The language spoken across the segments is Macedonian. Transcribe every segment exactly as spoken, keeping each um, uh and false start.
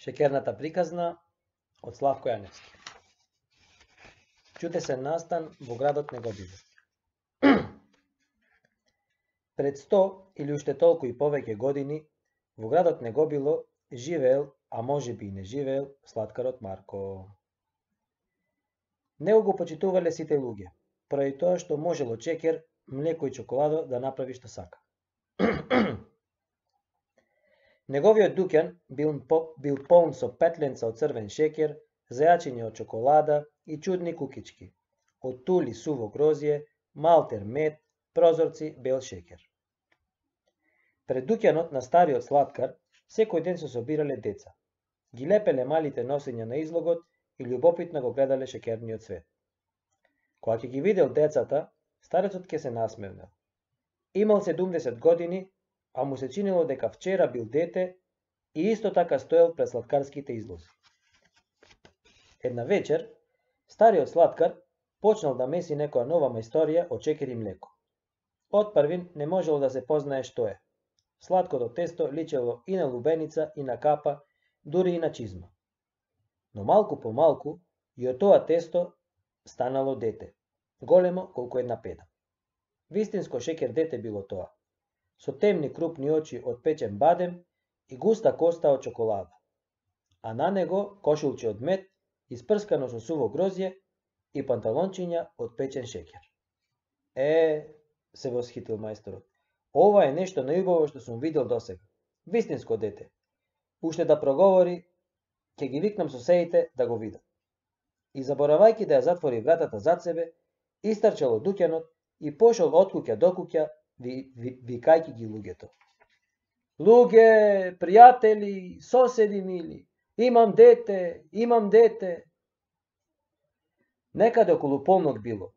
Шекерната приказна од Славко Јаневски. Чудесен настан во градот Негобило. Пред сто или уште толку и повеќе години во градот Негобило живеел, а можеби и не живеел, слаткарот Марко. Него го почитувале сите луѓе, поради тоа што можел од шекер, млеко и чоколадо да направи што сака. Неговиот дуќан бил, бил полн со петленца од црвен шекер, зајачиња од чоколада и чудни кукички, од тули суво грозје, малтер мед, прозорци бел шекер. Пред дуќанот на стариот слаткар секој ден се собирале деца. Ги лепеле малите носења на излогот и љубопитно го гледале шекерниот свет. Кога ќе ги видел децата, старецот ќе се насмевнел. Имал седумдесет години, а му се чинело дека вчера бил дете и исто така стоел пред слаткарските излози. Една вечер, стариот слаткар почнал да меси некоја нова мајсторија од шекер и млеко. Од првин не можело да се познае што е. Сладкото тесто личело и на лубеница, и на капа, дури и на чизма. Но малку по малку и од тоа тесто станало дете, големо колку една педа. Вистинско шекер дете било тоа, со темни крупни очи од печен бадем и густа коста од чоколада, а на него кошулче од мед, испрскано со суво грозје и панталончиња од печен шекер. Е, се восхитил мајсторот, ова е нешто најубаво што сум видел досега. Вистинско дете. Уште да проговори, ќе ги викнам соседите да го видат. И заборавајќи да ја затвори вратата зад себе, истрчал од дуќанот и пошол од куќа до куќа, ви, ви, викајќи ги луѓето. Луѓе, пријатели, соседи мили, имам дете, имам дете. Некаде околу полнок било.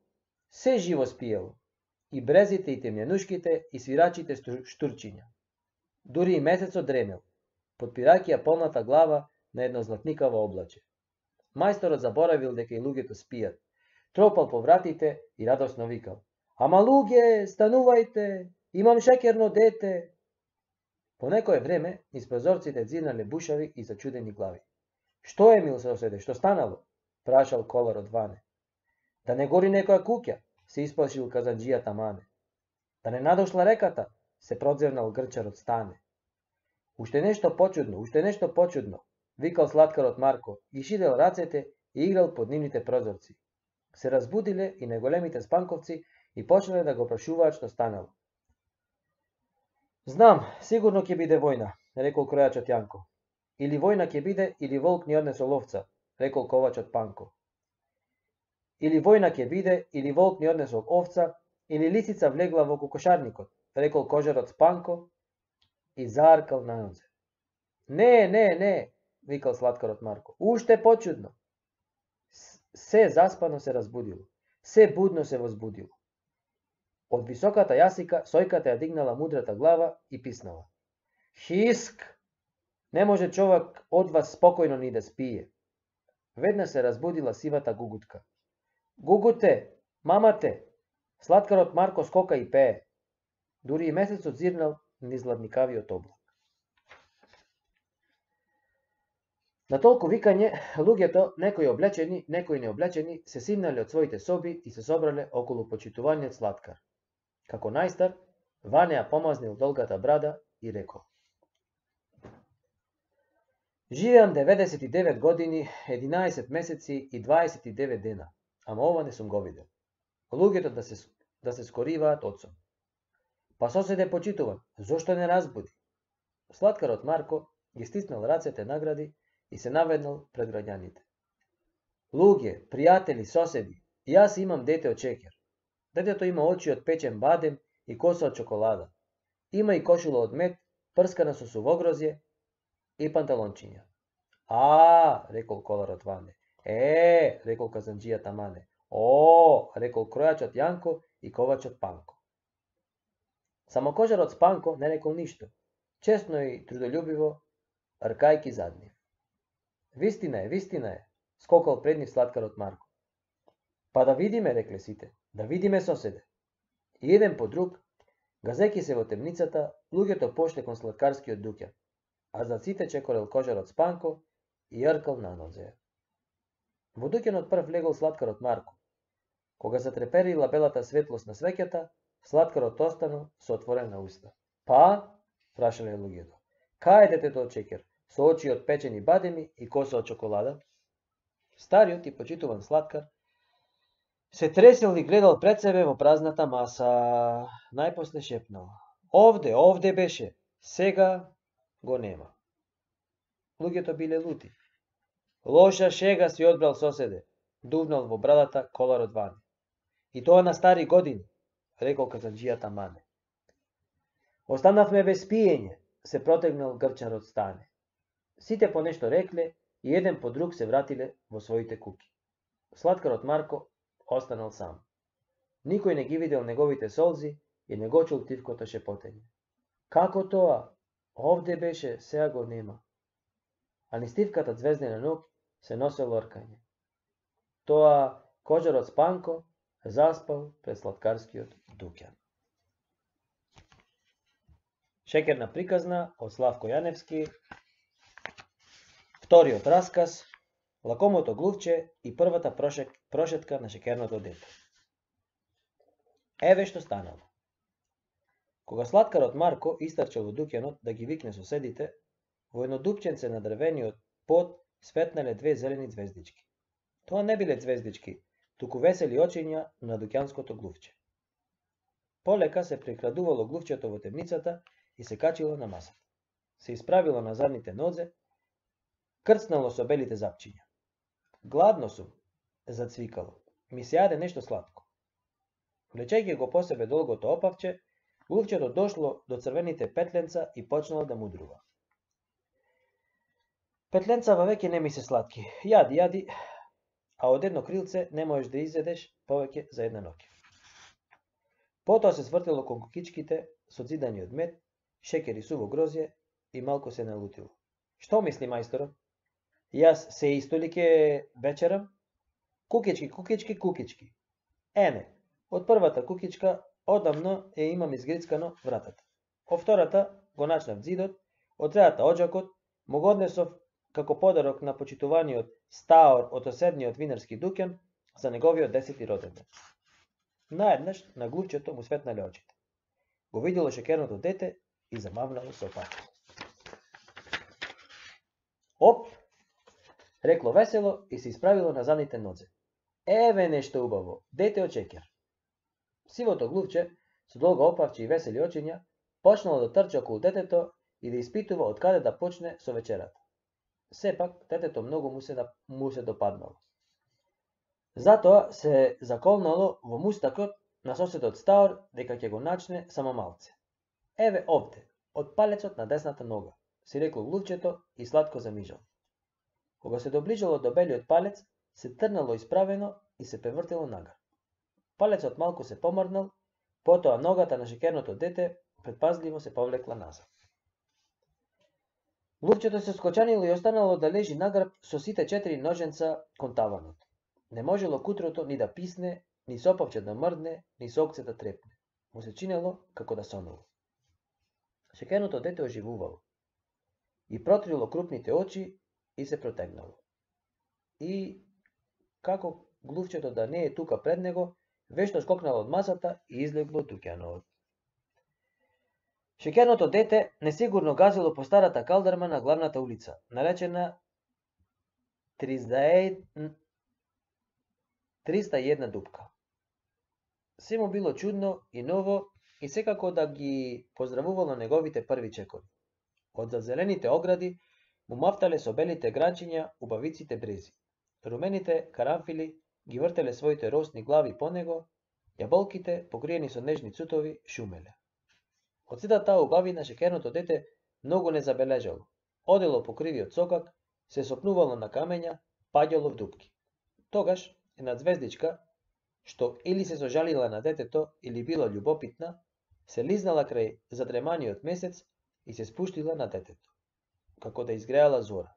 Се живо спиело. И брезите, и темјанушките, и свирачите штурчиња. Дури и месецот дремел, подпирајќи ја полната глава на едно златникаво облаче. Мајсторот заборавил дека и луѓето спијат. Тропал по вратите и радосно викал: Ама луѓе, станувајте, имам шекерно дете. По некое време низ прозорците дзирнале бушави и зачудени глави. Што е, мил соседе, што станало? Прашал коларот Ване. Да не гори некоја куќа, се исплашил казанџијата Мане. Да не надошла реката, се продзевнал грчарот Стане. Уште нешто почудно, уште нешто почудно, викал слаткарот Марко и шидел рацете и играл под нивните прозорци. Се разбудиле и неголемите спанковци и почнале да го прашуваат што станало. Знам, сигурно ќе биде војна, рекол кројачот Јанко. Или војна ќе биде, или волк ни однесол овца, рекол ковачот Панко. Или војна ќе биде, или волк ни однесол овца, или лисица влегла во кокошарникот, рекол кожарот Спанко и зааркал на нозе. Не, не, не, викал слаткарот Марко, уште почудно. Се заспано се разбудило, се будно се возбудило. Од високата јасика сојката ја дигнала мудрата глава и писнала. Хиск! Не може човек од вас спокојно ни да спие. Веднаш се разбудила сивата гугутка. Гугуте, мамате! Слаткарот Марко скока и пее. Дури и месецот зирнал низ ладникавиот облак. На толку викање, луѓето, некои облечени, некои необлечени, се симнале од своите соби и се собрале околу почитуваниот слаткар. Како најстар, Ване ја помазнил долгата брада и рекол. Живеам деветдесет и девет години, единаесет месеци и дваесет и девет дена, ама ова не сум го видел. Луѓето да се, да се скориваат одсом. Па соседе почитуван, зошто не разбуди? Слаткарот Марко ги стиснал рацете награди и се наведнал пред граѓаните. Луѓе, пријатели, соседи, јас имам дете од шекер. Детето има очи од печен бадем и коса од чоколада. Има и кошула од мед, прскана со сувогрозје и панталончиња. А, рекол коларот Ване. Е, рекол казанџијата Мане. О, рекол кројачот Јанко и ковачот Панко. Само кожарот Спанко не рекол ништо, честно и трудолюбиво, ркајки зад нив. Вистина е, вистина е, скокал пред нив слаткарот Марко. Па да видиме, рекле сите, да видиме соседе. И еден по друг, газеки се во темницата, луѓето пошле кон слаткарскиот дуќан, а зад сите чекорел кожарот Спанко и јркал на нозе. Во дуќанот прв влегол слаткарот Марко. Кога се треперила белата светлост на свеќата, слаткарот останал со отворена уста. Па, прашале луѓето, кај е детето од шеќер, со очи од печени бадеми и коса од чоколада? Стариот и почитуван слаткар се тресел и гледал пред себе во празната маса. Најпосле шепнал: Овде, овде беше, сега го нема. Луѓето биле лути. Лоша шега си одбрал соседе, дувнал во брадата коларот Ване. И тоа на стари години, рекол казанџијата Мане. Останавме без пиење, се протегнал грчарот Стане. Сите по нешто рекле и еден по друг се вратиле во своите куки. Слаткарот Марко останал сам. Никој не ги видел неговите солзи и не го чул тивкото шепотење. Како тоа? Овде беше, сега го нема. А низ тивката звездена ноќ се носело ркање. Тоа кожарот Спанко заспал пред слаткарскиот дуќан. Шеќерна приказна од Славко Јаневски. Вториот расказ, Лакомото глувче и првата прошек, прошетка на шеќерното дете. Еве што станало. Кога слаткарот Марко истрчал во дуќанот да ги викне соседите, во едно дупченце на дрвениот под светнале две зелени звездички. Тоа не биле звездички, туку весели очиња на дуќанското глувче. Полека се прекрадувало глувчето во темницата и се качило на масата. Се исправило на задните нозе, крцнало со белите запчиња. Гладно сум, зацвикало. Ми се јаде нешто сладко. Влечејќи го по себе долгото опавче, глувчето дошло до црвените петленца и почнало да мудрува. Петленцава веќе не ми се сладки. Јади, јади, а од едно крилце не можеш да изедеш повеќе за една ноќ. Потоа се свртило кон кукичките со зидани од мед, шеќер и суво грозје и малку се налутило. Што мисли мајсторот? Јас се исто ли ке вечерам? Кукички, кукички, кукички. Ене, од првата кукичка одамно е имам изгрицкано вратата. Од втората го начнав зидот, од третата оџакот, му го однесов како подарок на почитуваниот стаор од соседниот винарски дуќан за неговиот десети роденден. Наеднаш на глувчето му светнале очите. Го видело шеќерното дете и замавнало со патето. Оп! Рекло весело и се исправило на задните нозе. Еве нешто убаво, дете од шеќер. Сивото глувче, со долго опавче и весели очиња, почнало да трча околу детето и да испитува од каде да почне со вечерата. Сепак, детето многу му се, му се допаднало. Затоа се заколнало во мустакот на соседот Стаор дека ќе го начне само малце. Еве овде, од палецот на десната нога, си рекло глувчето и сладко замижал. Кога се доближало до белиот палец, се трнало исправено и се превртело нагар. Палецот малку се помрднал, потоа ногата на шеќерното дете предпазливо се повлекла назад. Глувчето се скочанило и останало да лежи нагрб со сите четири ноженца кон таванот. Не можело кутрото ни да писне, ни со опавче да мрдне, ни со окце да трепне. Му се чинело како да сонело. Шеќерното дете оживувало и протрило крупните очи и се протегнало. И, како глувчето да не е тука пред него, вешто скокнало од масата и излегло од дуќанот. Шеќерното дете несигурно газило по старата калдарма на главната улица, наречена триста и една дупка. Се му било чудно и ново и секако да ги поздравувало неговите први чекори. Од зазелените огради му мафтале со белите гранчиња убавиците брези. Румените карамфили ги вртеле своите росни глави по него, јаболките, покриени со нежни цутови, шумеле. Од сета таа убавина шеќерното дете многу не забележало. Одело по кривиот сокак, се сопнувало на камења, паѓало в дупки. Тогаш една звездичка, што или се сожалила на детето, или била љубопитна, се лизнала крај задреманиот месец и се спуштила на детето, како да изгреала зора.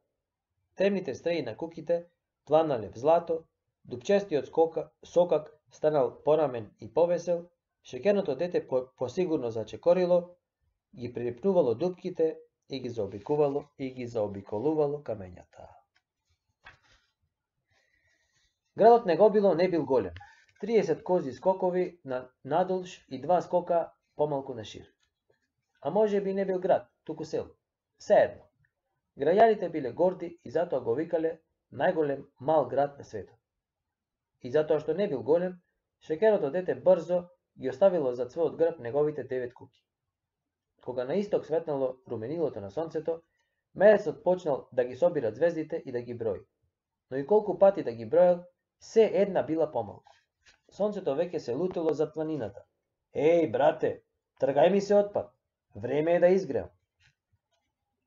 Темните стреи на куките планале в злато, дупчестиот скока, сокак станал порамен и повесел, шеќерното дете посигурно зачекорило, ги прилипнувало дупките и ги заобикувало и ги заобиколувало камењата. Градот Негобило не бил голем. триесет кози скокови на надолж и два скока помалку на шир. А може би не бил град, туку село. Сеедно. Граѓаните биле горди и затоа го викале најголем мал град на светот. И затоа што не бил голем, шекерото дете брзо ги оставило зад својот грб неговите девет куќи. Кога на исток светнало руменилото на сонцето, мерецот почнал да ги собира звездите и да ги брои. Но и колку пати да ги броел, се една била помалку. Сонцето веќе се лутело зад планината. Еј, брате, тргај ми се отпад. Време е да изгреам.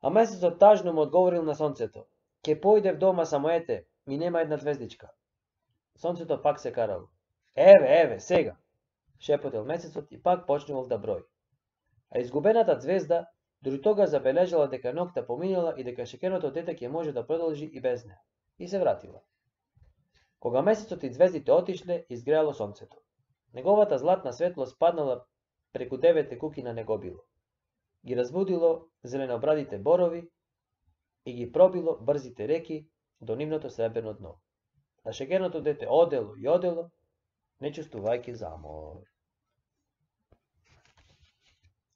А месецот тажно му одговорил на сонцето. Ке појде в дома, само ете, ми нема една звездичка. Сонцето пак се карало. Еве, еве, сега, шепотел месецот и пак почнувал да брои. А изгубената звезда дури тога забележала дека ноќта поминала и дека шекерното дете ќе може да продолжи и без неа. И се вратила. Кога месецот и звездите отишле, изгреало сонцето. Неговата златна светлост паднала преку девете куки на Негобило. Ги разбудило зеленобрадите борови и ги пробило брзите реки до нивното сребрено дно. А шекерното дете одело и одело, не чувствувајќи замор.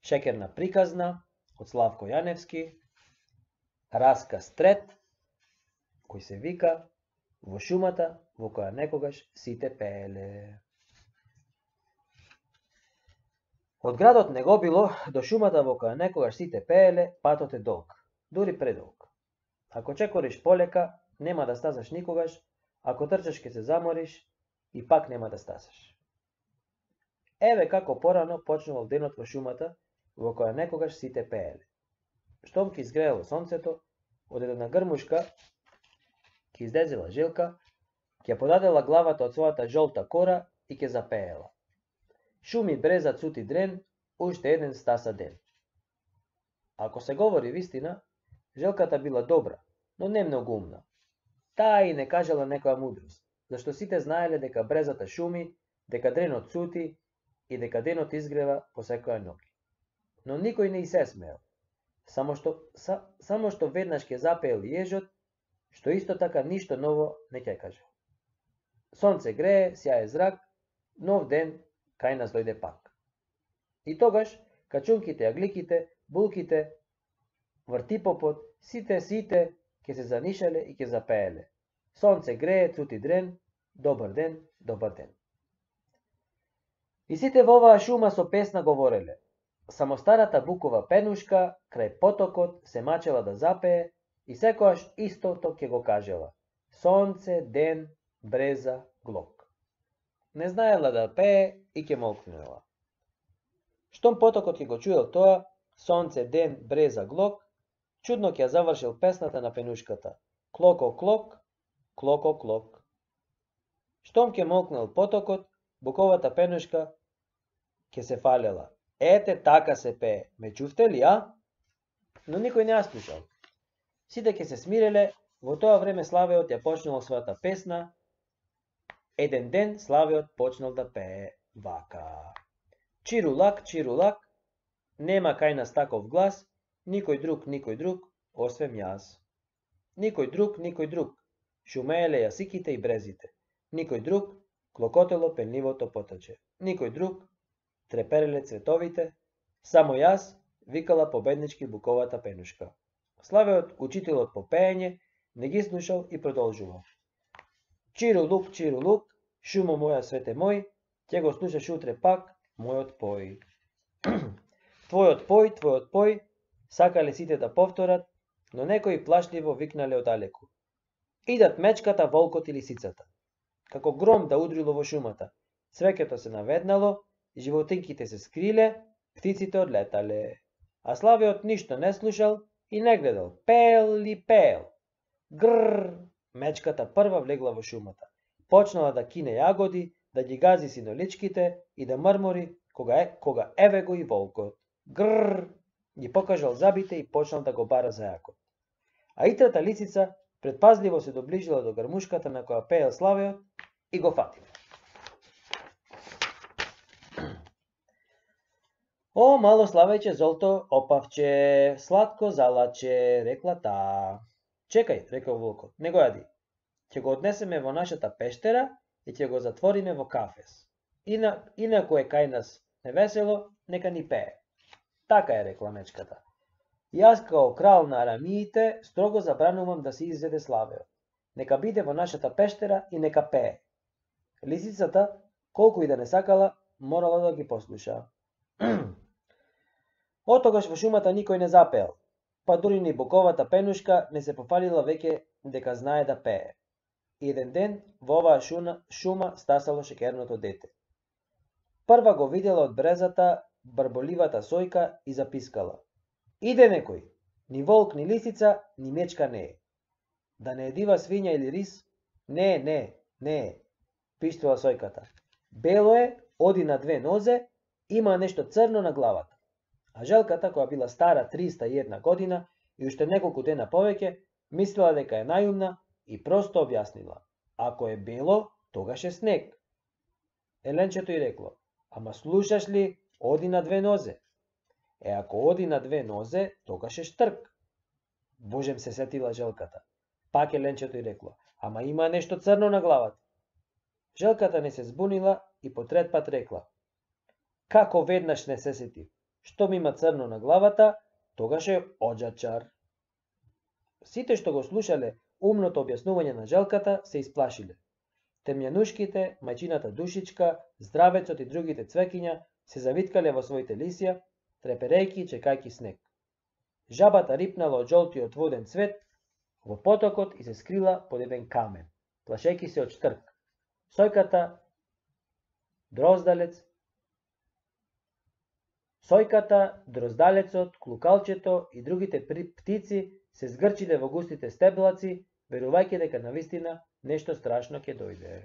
Шекерна приказна од Славко Јаневски, расказ трет, кој се вика Во шумата во која некогаш сите пееле. Од градот Негобило до шумата во која некогаш сите пееле, патот е долг, дури предолг. Ако чекориш полека, нема да стасаш никогаш, ако трчаш ке се замориш и пак нема да стасаш. Еве како порано почнувал денот во шумата во која некогаш сите пееле. Штом ки изгреело сонцето, од една грмушка ке издезела жилка, ќе подадела главата од својата жолта кора и ќе запеела. Шуми, бреза, цути дрен, уште еден стаса ден. Ако се говори вистина, жилката била добра, но не многу умна. Таа и не кажала некоја мудрост, зашто сите знаеле дека брезата шуми, дека дренот цути и дека денот изгрева по секоја ноќ. Но никој не и се смеел. Само што, са, само што веднаш ќе запеел јежот, што исто така ништо ново не ќе каже. Сонце грее, сјае зрак, нов ден кај нас дојде пак. И тогаш, качунките, агликите, булките, вртипопот, сите, сите, ќе се занишале и ќе запееле. Сонце грее, цути дрен, добар ден, добар ден. И сите во оваа шума со песна говореле. Само старата букова пенушка крај потокот се мачела да запее и секојаш истото ќе го кажела. Сонце, ден, бреза, глок. Не знаела да пее и ќе молкнела. Штом потокот ќе го чуел тоа, сонце, ден, бреза, глок, чудно ќе ја завршил песната на пенушката. Клоко, клок, клоко, клок. Штом ќе молкнел потокот, буковата пенушка ќе се фалела. Ете, така се пее. Ме чувте ли, а? Но никој не ја слушал. Сите ќе се смиреле, во тоа време Славеот ја почнал својата песна. Еден ден Славеот почнал да пее вака. Чирулак, чирулак, нема кај нас таков глас, никој друг, никој друг, освен јас. Никој друг, никој друг, шумееле јасиките и брезите. Никој друг, клокотело пенливото поточе. Никој друг, трепереле цветовите, само јас, викала победнички буковата пенушка. Славеот, учителот по пеење, не ги слушал и продолжувал. Чирулук, чирулук, шумо моја свете мој, ќе го слушаш утре пак мојот пој. Твојот пој, твојот пој, сакале сите да повторат, но некои плашливо викнале одалеку. Идат мечката, волкот и лисицата. Како гром да удрило во шумата, цвеќето се наведнало, животинките се скриле, птиците одлетале. А Славеот ништо не слушал и не гледал, пеел ли пеел. Грррр, мечката прва влегла во шумата. Почнала да кине јагоди, да ги гази синоличките и да мрмори, кога, е, кога еве го и волкот. Грррр, ги покажал забите и почнал да го бара за јакот. А итрата лисица предпазливо се доближила до грмушката на која пеел Славеот и го фатила. О, мало Славејче, золто опавче, сладко залаче, рекла таа. Чекај, рекол волкот, не го јади. ќе го однесеме во нашата пештера и ќе го затвориме во кафес. Ина, инаку е кај нас невесело, нека ни пее. Така е, рекла мечката. Јас као крал на арамиите строго забранувам да се изведе славеот. Нека биде во нашата пештера и нека пее. Лисицата, колку и да не сакала, морала да ги послуша. Отогаш во шумата никој не запеел, па дури ни боковата пенушка не се пофалила веќе дека знае да пее. Еден ден во оваа шуна, шума стасало шекерното дете. Прва го видела од брезата барболивата сојка и запискала. Иде некој, ни волк, ни лисица, ни мечка не е. Да не е дива свиња или рис? Не, не, не е, пиштила сојката. Бело е, оди на две нозе, има нешто црно на главата. А желката, која била стара триста и една година и уште неколку дена повеќе, мислила дека е најумна и просто објаснила. Ако е бело, тогаш е снег. Еленчето ѝ рекло, ама слушаш ли, оди на две нозе. Е, ако оди на две нозе, тогаш е штрк. Божем се сетила желката. Пак еленчето ѝ рекло, ама има нешто црно на главата. Желката не се збунила и по трет пат рекла. Како веднаш не се сети, што ми има црно на главата, тогаш е оџачар. Сите што го слушале умното објаснување на желката се исплашиле. Темјанушките, мајчината Душичка, Здравецот и другите цвекиња се завиткале во своите лисија, треперејки и чекајки снег. Жабата рипнала од жолтиот воден цвет во потокот и се скрила под еден камен, плашејки се од штрк. Сојката, дроздалец, Сојката, дроздалецот, клукалчето и другите птици се згрчиле во густите стеблаци, верувајќи дека навистина нешто страшно ќе дојде.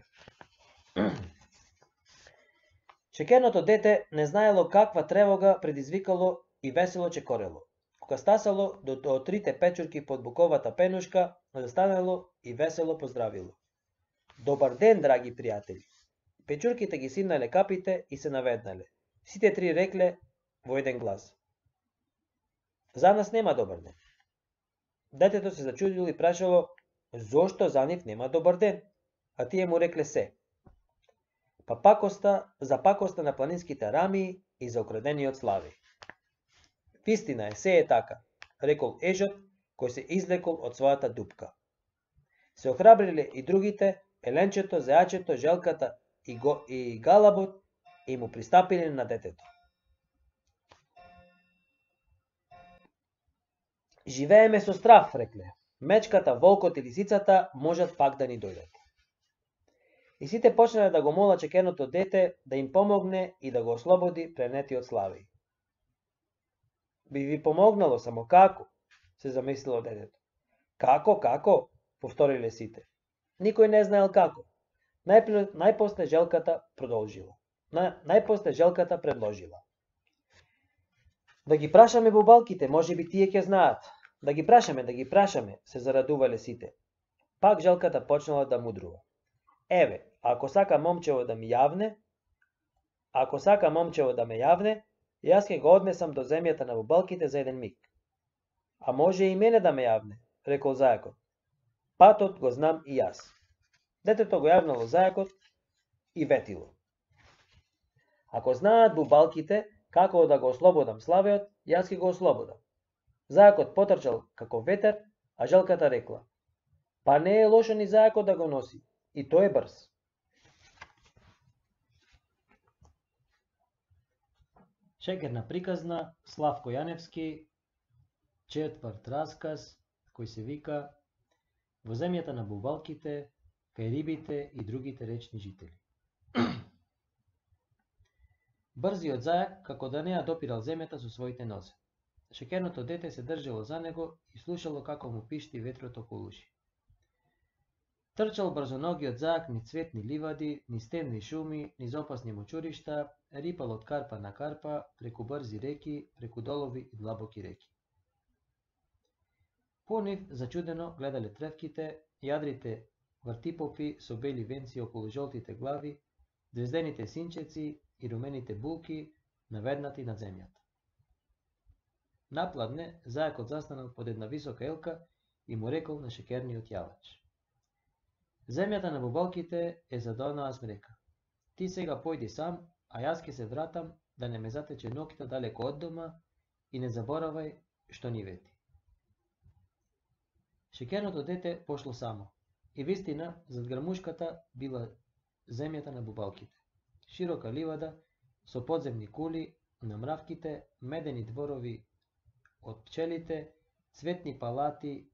Шекерното дете не знаело каква тревога предизвикало и весело чекорело. Кога стасало до, до трите печурки под буковата пенушка, застанало и весело поздравило. Добар ден, драги пријатели! Печурките ги симнале капите и се наведнале. Сите три рекле во еден глас. За нас нема добар ден. Детето се зачудило и прашало, зошто за нив нема добар ден? А тие му рекле се. Па пакоста, за пакоста на планинските арамии и за украдениот слави. Вистина е, се е така, рекол ежот, кој се излекол од својата дупка. Се охрабриле и другите, еленчето, зејачето, желката и, го, и галабот и му пристапиле на детето. Живееме со страв, рекле. Мечката, волкот и лисицата можат пак да ни дојдат. И сите почнале да го молат чекерното дете да им помогне и да го ослободи пренетиот слави. Би ви помогнало, само како? Се замислило детето. Како, како? Повториле сите. Никој не знаел како. Најпосле, најпосле желката продолжила. На, најпосле желката предложила. Да ги прашаме бубалките, може би тие ќе знаат. Да ги прашаме, да ги прашаме, се зарадувале сите. Пак желката почнала да мудрува. Еве, ако сака момчево да ми јавне, ако сака момчево да ме јавне, јас ќе го однесам до земјата на бубалките за еден миг. А може и мене да ме јавне, рекол зајакот. Патот го знам и јас. Детето го јавнало зајакот и ветило. Ако знаат бубалките како да го ослободам славеот, јас ќе го ослободам. Зајакот потрчал како ветер, а желката рекла. Па не е лошо ни зајакот да го носи, и тој е брз. Шекерна приказна, Славко Јаневски, четврт расказ, кој се вика Во земјата на бубалките, кај рибите и другите речни жители. Брзиот зајак, како да не ја допирал земјата со своите нозе. Шекерното дете се држало за него и слушало како му пишти ветрот околу уши. Трчал брзоногиот зајак ни цветни ливади, ни стенни шуми, низ опасни мочуришта, рипал од карпа на карпа, преку брзи реки, преку долови и длабоки реки. По нив зачудено гледале тревките, јадрите вртипопи со бели венци околу жолтите глави, звездените синчеци и румените булки наведнати над земјата. Напладне, зајакот застанал под една висока елка и му рекол на шекерниот јавач. Земјата на бубалките е за да онаа смрека. Ти сега појди сам, а јас ќе се вратам да не ме затече ноќта далеко од дома и не заборавај што ни вети. Шеќерното дете пошло само. И вистина, зад грамушката била земјата на бубалките. Широка ливада со подземни кули на мравките, медени дворови од пчелите, цветни палати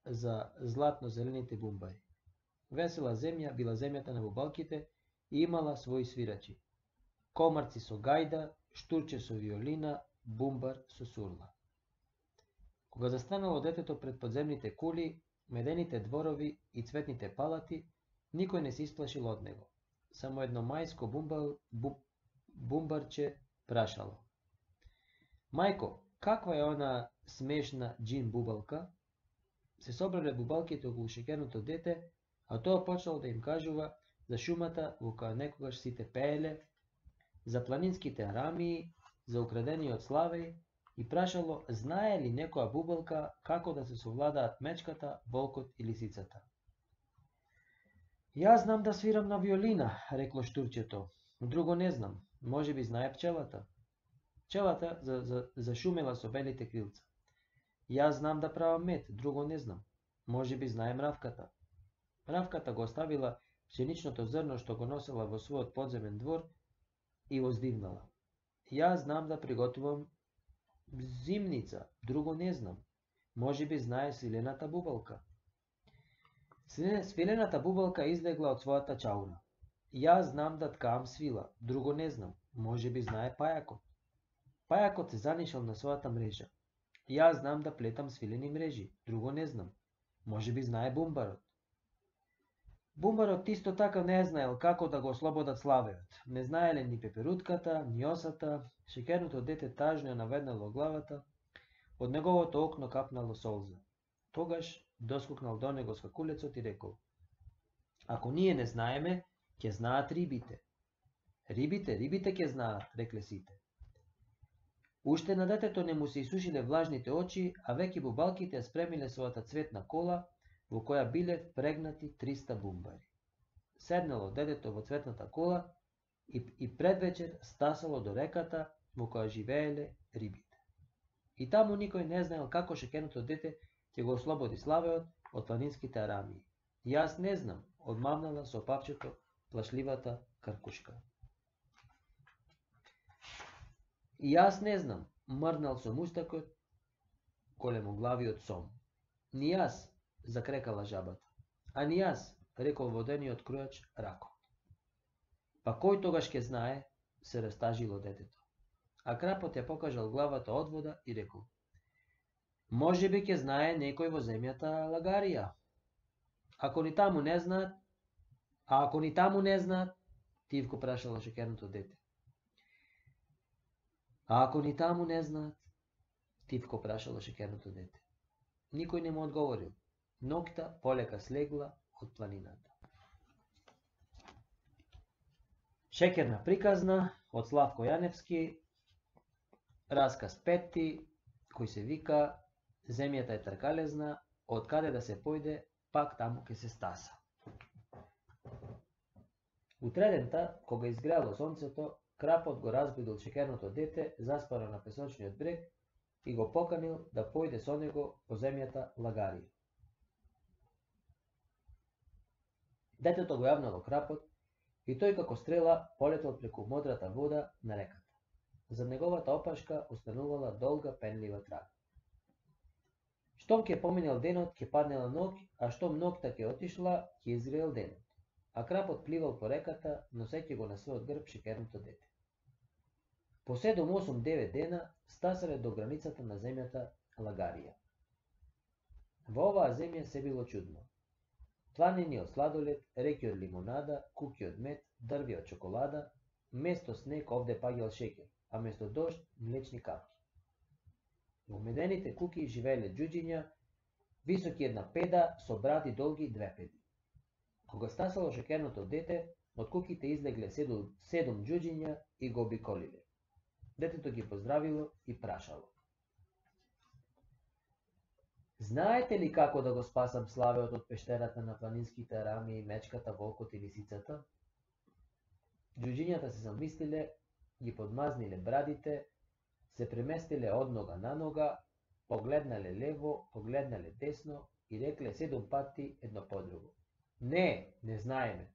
за златно-зелените бумбари. Весела земја била земјата на бубалките и имала своји свирачи. Комарци со гајда, штурче со виолина, бумбар со сурла. Кога застанало детето пред подземните кули, медените дворови и цветните палати, никој не се исплашил од него. Само едно мајско бумбал, бу, бумбарче прашало. Мајко, каква е она смешна джин бубалка? Се собрале бубалките околу шеќерното дете, а тоа почнало да им кажува за шумата во која некогаш сите пееле, за планинските арамии, за украдениот славеј и прашало знае ли некоја бубалка како да се совладаат мечката, волкот и лисицата. Јас знам да свирам на виолина, рекло штурчето. Друго не знам, може би знае пчелата. Пчелата за, за, зашумела со белите крилца. Јас знам да правам мед, друго не знам. Може би знае мравката. Мравката го оставила пшеничното зрно што го носела во својот подземен двор и воздивнала. Јас знам да приготувам зимница, друго не знам. Може би знае свилената бубалка. Свилената бубалка излегла од својата чаура. Јас знам да ткаам свила, друго не знам. Може би знае пајакот. Пајакот се занишал на својата мрежа. Јас знам да плетам свилени мрежи, друго не знам. Може би знае бумбарот. Бумбарот исто така не знаел како да го ослободат славеот. Не знаеле ни пеперутката, ни осата, шеќерното дете тажно ја наведнало главата, од неговото окно капнало солза. Тогаш доскокнал до него скакулецот и рекол: ако ние не знаеме, ќе знаат рибите. Рибите, рибите ќе знаат, рекле сите. Уште на детето не му се исушиле влажните очи, а веќе бубалките ја спремиле својата цветна кола, во која биле впрегнати триста бумбари. Седнало детето во цветната кола и, и предвечер стасало до реката во која живееле рибите. И таму никој не знаел како шеќерното дете ќе го ослободи славеот од планинските арамии. Јас не знам, одмамнала со папчето плашливата каркушка. И јас не знам, мрнал со мустакот големоглавиот сом. Ни јас, закрекала жабата. А ни јас, рекол водениот крујач ракот. Па кој тогаш ќе знае, се растажило детето. А крапот ја покажал главата од вода и рекол: може би ќе знае некој во земјата Лагарија. Ако ни таму не знаат, а ако ни таму не знаат, тивко прашало шеќерното дете. А ако ни таму не знаат, тивко прашало шеќерното дете. Никој не му одговорил. Ноќта полека слегла од планината. Шеќерна приказна од Славко Јаневски, расказ пети, кој се вика Земјата е тркалезна, од каде да се појде, пак таму ке се стаса. Утредента, кога изгрело сонцето, крапот го разбудил шеќерното дете, заспано на песочниот брег, и го поканил да појде со него по земјата Лагарија. Детето го јавнало крапот и тој како стрела полетел преку модрата вода на реката. За неговата опашка останувала долга пенлива трага. Штом ќе поминел денот, ќе паднела ноќ, а штом ноќта ќе отишла, ќе изгрел денот. А крапот пливал по реката, носејќи го на својот грб шеќерното дете. По седум-осум девет дена стасале до границата на земјата Лагарија. Во оваа земја се било чудно. Планини од сладолед, реки од лимонада, куки од мед, дрви од чоколада, место снег овде паѓал шеќер, а место дожд млечни капки. Во медените куки живееле џуџиња, високи една педа, со бради долги две педи. Кога стасало шеќерното дете, од куките излегле седум, седум џуџиња и го обиколиле. Детето ги поздравило и прашало: Знаете ли како да го спасам славеот од пештерата на планинските арами, мечката, волкот и лисицата? Ѓуџињата се замислиле, ги подмазниле брадите, се преместиле од нога на нога, погледнале лево, погледнале десно и рекле седум пати едно по друго. Не, не знаеме.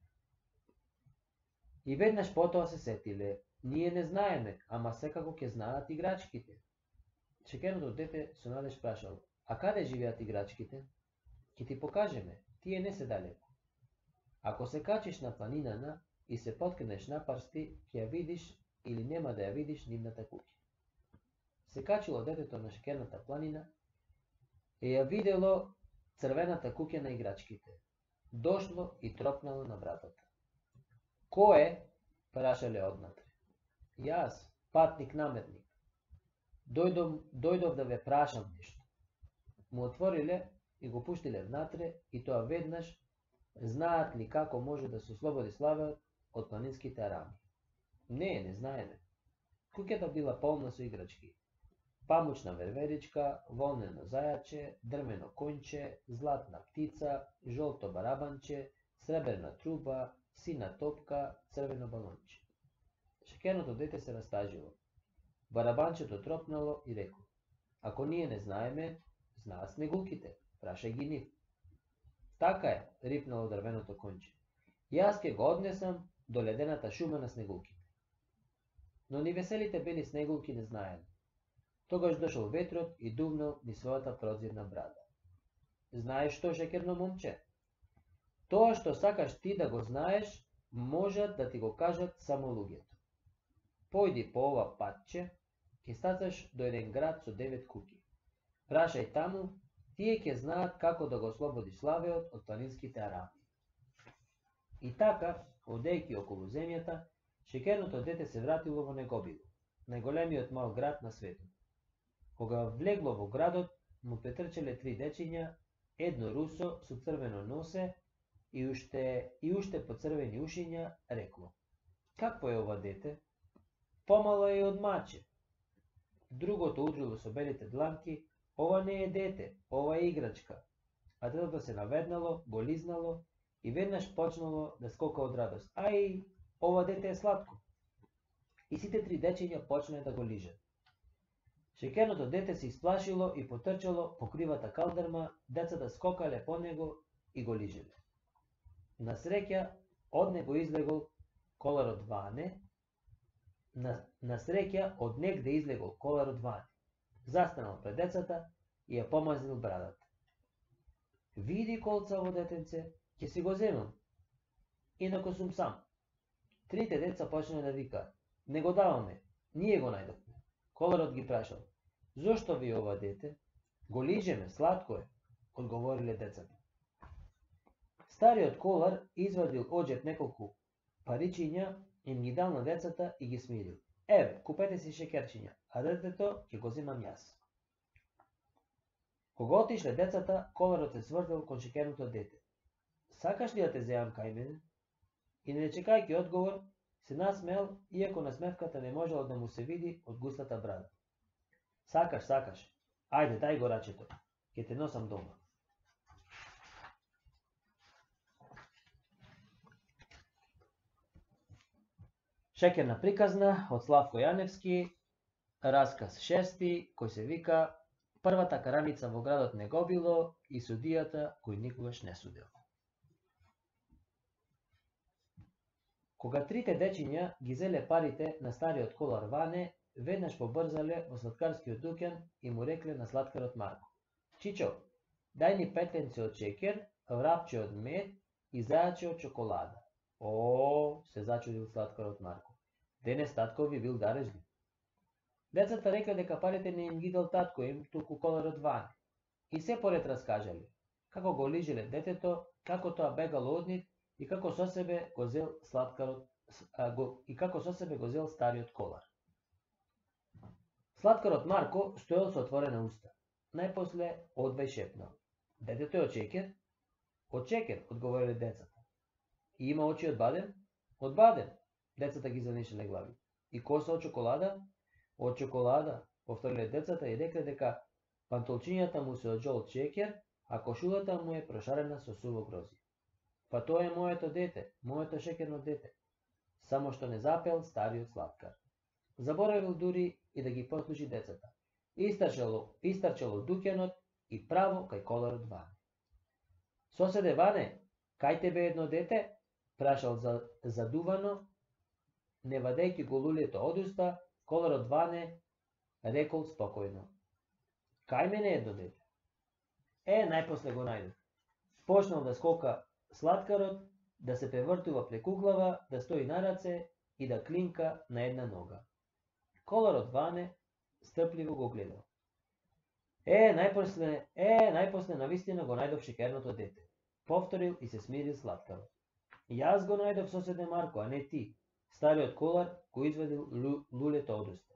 И веднаш потоа се сетиле, ние не знаеме, ама секако ќе знаат играчките. Шекерното дете со надеж прашало, а каде живеат играчките? Ќе ти покажеме, тие не се далеко. Ако се качиш на планинана и се поткнеш напарсти, ќе ја видиш или нема да ја видиш нивната куќа. Се качило детето на шекерната планина и ја видело црвената куќа на играчките. Дошло и тропнало на вратата. Кој? Прашале однатре. Јас, патник наметник. Дојдов, дојдов да ве прашам нешто. Му отвориле и го пуштиле внатре и тоа веднаш знаат ли како може да се ослободи славеот од планинските арами. Не, не знаеме. Куќата била полна со играчки. Памучна верверичка, волнено зајаче, дрвено конче, златна птица, жолто барабанче, среберна труба, сина топка, црвено балонче. Шекерното дете се растажило. Барабанчето тропнало и реко, ако ние не знаеме, знаат снегулките, прашај ги нив. Така е, рипнало дрвеното конче. Јас ке го однесам до ледената шума на снегулките. Но ни веселите бели снегулки не знаеле. Тогаш дошол ветрот и дувнал ни својата прозирна брада. Знаеш што, шекерно момче? Тоа што сакаш ти да го знаеш, можат да ти го кажат само луѓето. Појди по ова патче, ќе стацаш до еден град со девет куќи. Прашај таму, тие ќе знаат како да го ослободи славеот од планинските арами. И така, одејќи околу земјата, шекерното дете се вратило во Негобило, најголемиот мал град на светот. Кога влегло во градот, му претрчеле три дечиња, едно русо со црвено носе и уште и уште по црвени ушиња, рекло: какво е ова дете? Помало е од маче. Другото удрило со белите дланки: ова не е дете, ова е играчка. А детето се наведнало, го лизнало и веднаш почнало да скока од радост. Ај, ова дете е сладко. И сите три дечиња почнале да го лижат. Шекерното дете се исплашило и потрчало по кривата калдерма, децата скокале по него и го лижеле. На среќа од него излегол коларот Ване, на, на среќа од негде излегол коларот Ване. Застанал пред децата и ја помазнил брадата. Види, колцаво детенце, ќе си го земам. Инако сум сам. Трите деца почнале да викаат: не го даваме, ние го најдовме. Коларот ги прашал: зошто ви ова дете? Го лижеме, сладко е, одговориле децата. Стариот колар извадил оџеп неколку паричиња, им ги дал на децата и ги смирил. Еве, купете си шекерчиња, а детето ќе го земам јас. Кога отишле децата, коларот се свртел кон шекерното дете. Сакаш ли да те земам кај мене? И не чекајќи одговор, се насмеал, иако насмевката не можела да му се види од густата брада. Сакаш, сакаш. Ајде, дај го рачето. Ќе те носам дома. Шекерна приказна од Славко Јаневски, расказ шести, кој се вика Првата караница во градот Негобило и судијата кој никогаш не судел. Кога трите дечиња ги зеле парите на стариот колар Ване, веднаш побрзале во сладкарскиот дуќан и му рекле на сладкарот Марко: Чичо, дај ни петленце од шекер, врапче од мед и зајаче од чоколада. О, се зачудил сладкарот Марко. Денес татко ви бил дарежлив. Децата рекле дека парите не им ги дал татко им, туку коларот Ване. И се поред раскажале како го лижиле детето, како тоа бегало од нив и како со себе го зел сладкарот а, го, и како со себе го зел стариот колар. Сладкарот Марко стоел со отворена уста. Најпосле одвај шепнал: детето е од шекер? Од шекер, одговориле децата. И има очи од бадем? Од бадем, децата ги занишеле глави. И коса од чоколада? Од чоколада, повториле децата и рекле дека Пантолчињата му се од жолт шеќер, а кошулата му е прошарена со суво грозје. Па тоа е моето дете, моето шеќерно дете. Само што не запел стариот слаткар. Заборавил дури и да ги послуши децата. Истрчало, истрчало дуќанот и право кај коларот Ване. Соседе Ване, кај тебе едно дете? Прашал за, задувано, не вадејќи го лулето од уста, коларот Ване рекол спокојно. Кај мене едно дете? Е, најпосле го најдов. Почнал да скока слаткарот, да се превртува преку глава, да стои на раце и да клинка на една нога. Коларот Ване стрпливо го гледал. Е, најпосле, е, најпосле навистина го најдов шеќерното дете. Повторил и се смирил слаткарот. Јас го најдов, соседе Марко, а не ти. Стариот колар го извадил лу, лулето од уста.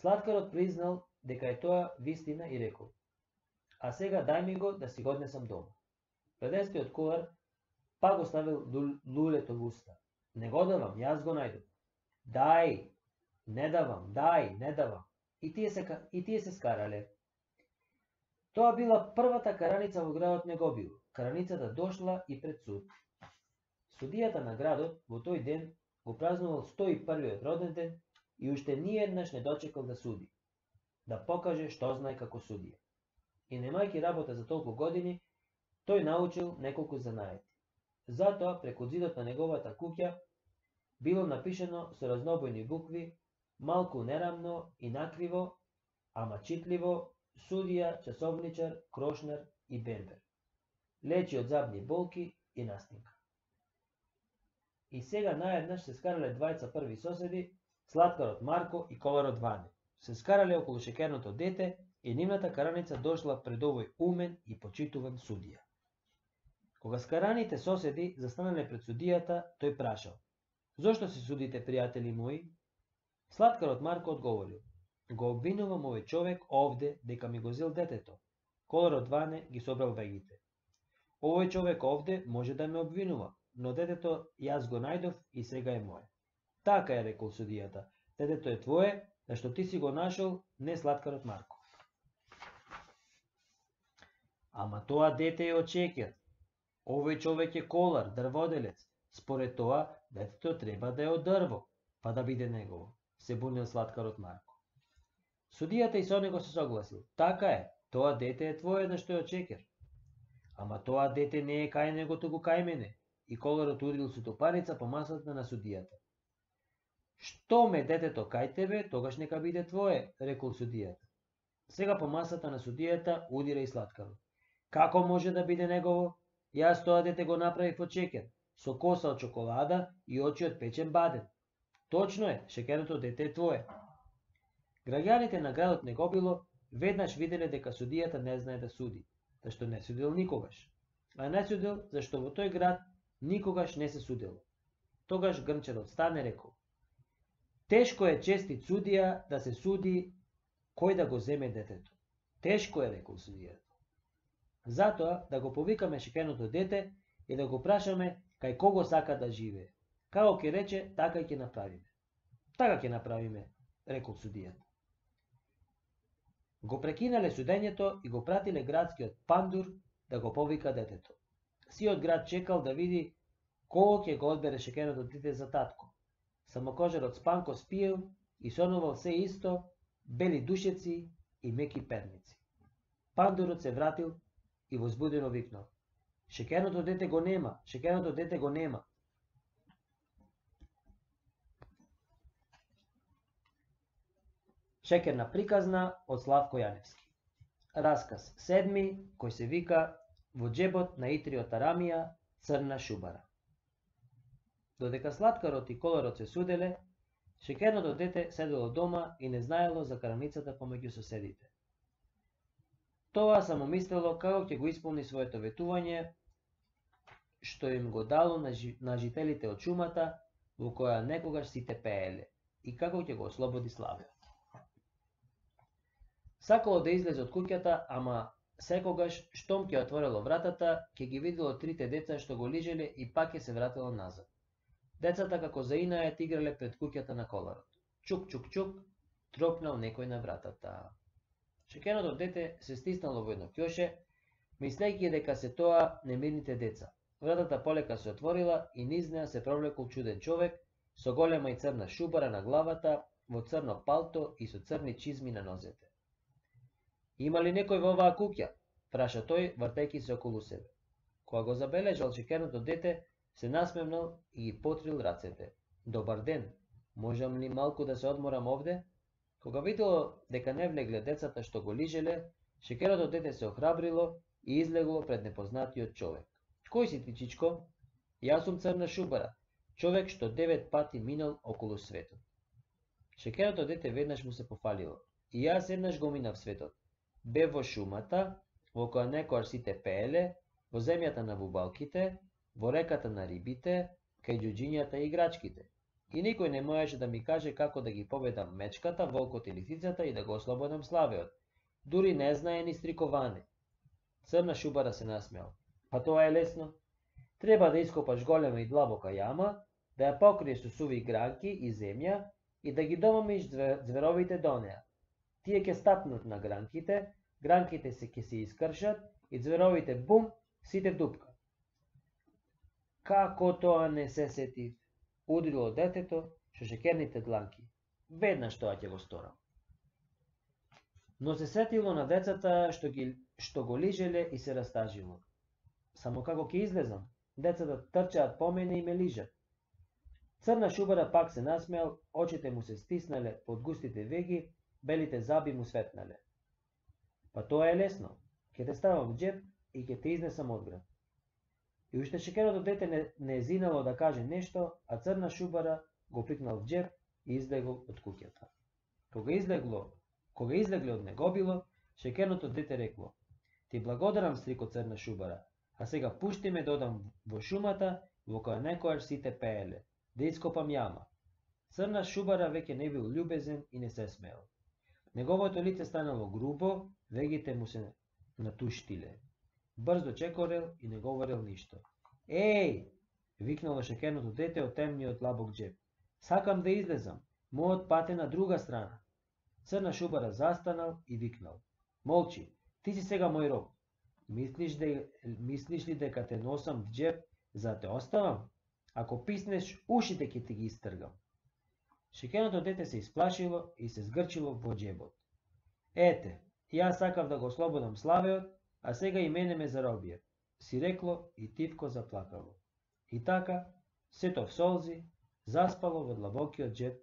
Слаткарот признал дека е тоа вистина и рекол. А сега дај ми го да си го однесам дома. Предестиот колар па го ставил лулето во уста. Не го давам, јас го најдов. Дај, не давам, дај, не давам. И тие се, и тие се скарале. Тоа била првата караница во градот Неговио. Караницата дошла и пред суд. Судијата на градот во тој ден го празнувал сто и првиот роден ден и уште ниеднаш не дочекал да суди, да покаже што знае како судија. И немајќи работа за толку години, тој научил неколку занаети. Затоа преку зидот на неговата куќа било напишено со разнобојни букви, малку нерамно и накриво, ама читливо, судија, часовничар, крошнар и бербер. Лечи од забни болки и настинка. И сега наеднаш се скарале двајца први соседи, слаткарот Марко и коларот Ване. Се скарале околу шеќерното дете и нивната караница дошла пред овој умен и почитуван судија. Кога скараните соседи застанале пред судијата, тој прашал: Зошто се судите, пријатели мои? Слаткарот Марко одговорил: Го обвинувам овој човек овде дека ми го зел детето. Коларот Ване ги собрал вегите. Овој човек овде може да ме обвинува, но детето јас го најдов и сега е мое. Така е, рекол судијата. Детето е твое, зашто ти си го нашол, не слаткарот Марко. Ама тоа дете е од шеќер. Овој човек е колар, дрводелец. Според тоа, детето треба да е од дрво, па да биде негово, се бунил слаткарот Марко. Судијата и со него се согласил. Така е, тоа дете е твое, зашто е од шеќер. Ама тоа дете не е кај него, туку кај мене. И коларот удрил со топаница по масата на судијата. Што ме детето кај тебе, тогаш нека биде твое, рекол судијата. Сега по масата на судијата удира и слаткарот. Како може да биде негово? Јас тоа дете го направив од шеќер, со коса од чоколада и очи од печен баден. Точно е, шеќерното дете е твое. Граѓаните на градот Негобило веднаш виделе дека судијата не знае да суди, зашто не судил никогаш. А не судил зашто во тој град никогаш не се судело. Тогаш грнчарот стане рекол: Тешко е честит судија да се суди кој да го земе детето. Тешко е, рекол судијата. Затоа да го повикаме шеќерното дете и да го прашаме кај кого сака да живее. Како ќе рече, така и ќе направиме. Така ќе направиме, рекол судијата. Го прекинале судењето и го пратиле градскиот пандур да го повика детето. Сиот град чекал да види кого ќе го одбере шеќерното дете за татко. Самокожарот Спанко спиел и сонувал се исто, бели душеци и меки перници. Пандурот се вратил и возбудено викнал: Шеќерното дете го нема, шеќерното дете го нема. Шеќерна приказна од Славко Јаневски. Расказ седми, кој се вика Во џебот на Итриот Арамија црна шубара. Додека слаткарот и коларот се суделе, шеќерното дете седело дома и не знаело за караницата помеѓу соседите. Тоа само мислело како ќе го исполни своето ветување, што им го дало на, жи, на жителите од шумата, во која некогаш сите пееле, и како ќе го ослободи Славе. Сакало да излезе од куќата, ама секогаш, штом ќе отворело вратата, ќе ги видело трите деца што го лижеле и пак ќе се вратело назад. Децата како заинајат играле пред куќата на коларот. Чук, чук, чук, тропнал некој на вратата. Шекеното дете се стиснало во едно ќоше, мислејќи дека се тоа немирните деца. Вратата полека се отворила и низ неа се провлекол чуден човек со голема и црна шубара на главата, во црно палто и со црни чизми на нозете. Има ли некој во оваа куќа? Праша тој, вртејќи се околу себе. Кога го забележал шекерното дете, се насмевнал и ги потрил рацете. Добар ден, можам ли малку да се одморам овде? Кога видело дека не влегле децата што го лижеле, шекерното дете се охрабрило и излегло пред непознатиот човек. Кој си ти, чичко? Јас сум црна шубара, човек што девет пати минал околу светот. Шекерното дете веднаш му се пофалило. И јас еднаш го минав светот. Бев во шумата, во која некојаш сите пееле, во земјата на бубалките, во реката на рибите, кај ѓуџињата и играчките. И никој не можеше да ми каже како да ги победам мечката, волкот и лисицата и да го ослободам славеот. Дури не знае ни стриковане. Црна шубара се насмеал. Па тоа е лесно. Треба да ископаш голема и длабока јама, да ја покриеш со суви гранки и земја и да ги домамиш ѕверовите до неа. Тие ќе стапнат на гранките, гранките се ќе се искршат и ѕверовите бум, сите в дупка. Како тоа не се сетив? Удрило детето со шекерните дланки. Веднаш тоа ќе го сторам. Но се сетило на децата што ги што го лижеле и се растажило. Само како ќе излезам? Децата трчаат по мене и ме лижат. Црна шубара пак се насмеал, очите му се стиснале под густите веги, белите заби му светнале. Па тоа е лесно. Ќе те ставам в џеп и ќе те изнесам од град. И уште шекерното дете не, не зинало да каже нешто, а црна шубара го пикнал в џеп и излегол од куќата. Кога излегло, кога излегле од негобило, шекерното дете рекло: Ти благодарам, стрико црна шубара, а сега пушти ме да одам во шумата, во која некојаш сите пееле, да ископам јама. Црна шубара веќе не бил љубезен и не се смеел. Неговото лице станало грубо, вегите му се натуштиле. Брзо чекорел и не говорел ништо. Еј! Викнало шекерното дете од темниот лабок џеп. Сакам да излезам, мојот пат е на друга страна. Црна шубара застанал и викнал. Молчи, ти си сега мој роб. Мислиш, де, мислиш ли дека те носам в џеп за да те оставам? Ако писнеш, ушите ќе ти ги истргам. Шекерното дете се исплашило и се згрчило во џебот. Ете, јас сакав да го ослободам славеот, а сега и мене ме заробија, си рекло и тивко заплакало. И така, сето в солзи, заспало во длабокиот џеп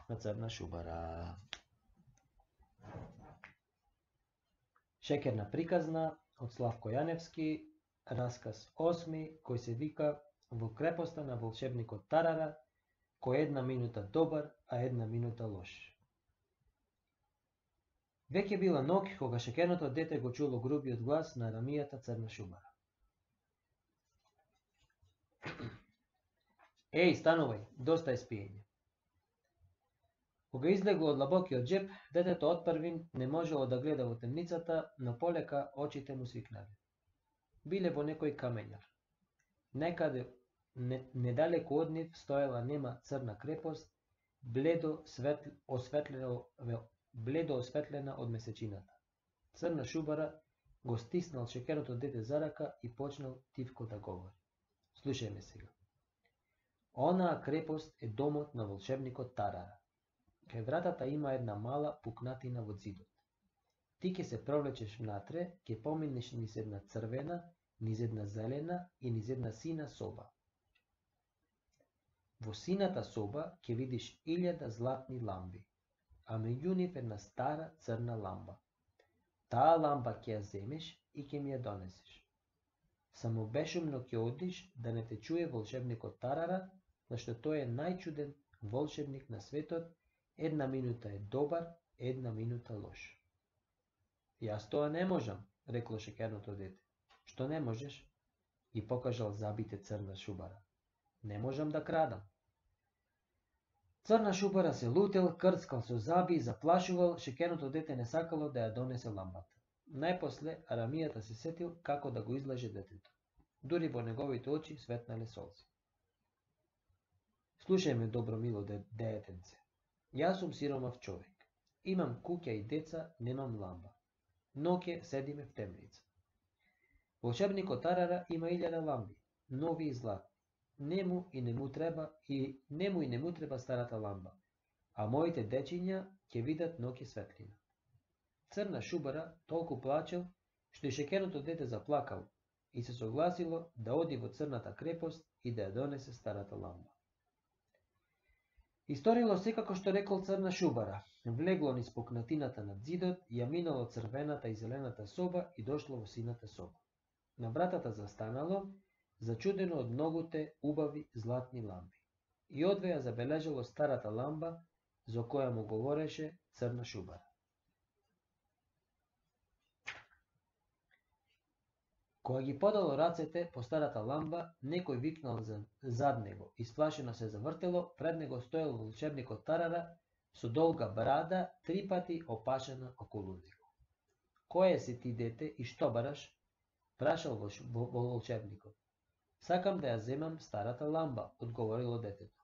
на црна шубара. Шекерна приказна од Славко Јаневски, расказ осми, кој се вика Во крепоста на волшебникот Тарара, кој една минута добар, а една минута лош. Веќе била ноќ кога шекерното дете го чуло грубиот глас на Арамијата црна шубара. Еј, станувај, доста е спиење. Кога излегло од длабокиот џеп, детето отпрвин не можело да гледа во темницата, но полека очите му свикнале. Биле во некој камењар. Некаде не, недалеку од нив стоела нема црна крепост, бледо, светл, осветлена, бледо осветлена од месечината. Црна шубара го стиснал шекерното дете за рака и почнал тивко да говори. Слушај ме сега. Онаа крепост е домот на волшебникот Тарара. Кај вратата има една мала пукнатина во зидот. Ти ќе се провлечеш внатре, ќе поминеш низ една црвена, низ една зелена и низ една сина соба. Во сината соба ќе видиш илјада златни ламби, а меѓу нив една стара црна ламба. Таа ламба ќе ја земеш и ќе ми ја донесеш. Само бешумно ќе одиш да не те чуе волшебникот Тарара, зашто тој е најчуден волшебник на светот, една минута е добар, една минута лош. Јас тоа не можам, рекло шекерното дете. Што не можеш? И покажал забите црна шубара. Не можам да крадам. Црна шубара се лутел, крцкал со заби и заплашувал, шекерното дете не сакало да ја донесе ламбата. Најпосле Арамијата се сетил како да го излаже детето. Дури во неговите очи светнале солзи. Слушај ме, добро мило деетенце. Јас сум сиромав човек. Имам куќа и деца, немам ламба. ноќе седиме в темница. Волшебникот Тарара има илјада ламби, нови и златни. Нему и не му треба и нему и не му треба старата ламба, а моите дечиња ќе видат ноќе светлина. Црна шубара толку плачел, што и шекерното дете заплакал и се согласило да оди во црната крепост и да ја донесе старата ламба. Историло секако што рекол црна шубара, влегло низ пукнатината над зидот, ја минало црвената и зелената соба и дошло во сината соба. На вратата застанало, зачудено од многуте убави златни ламби. И одве ја забележало старата ламба, за која му говореше црна шубара. Кога ги подало рацете по старата ламба, некој викнал зад него, исплашено се завртело, пред него стоел волшебникот Тарара со долга брада, три пати опашена околу него. Кој си ти, дете, и што бараш? Прашал волшебникот. Сакам да ја земам старата ламба, одговорило детето.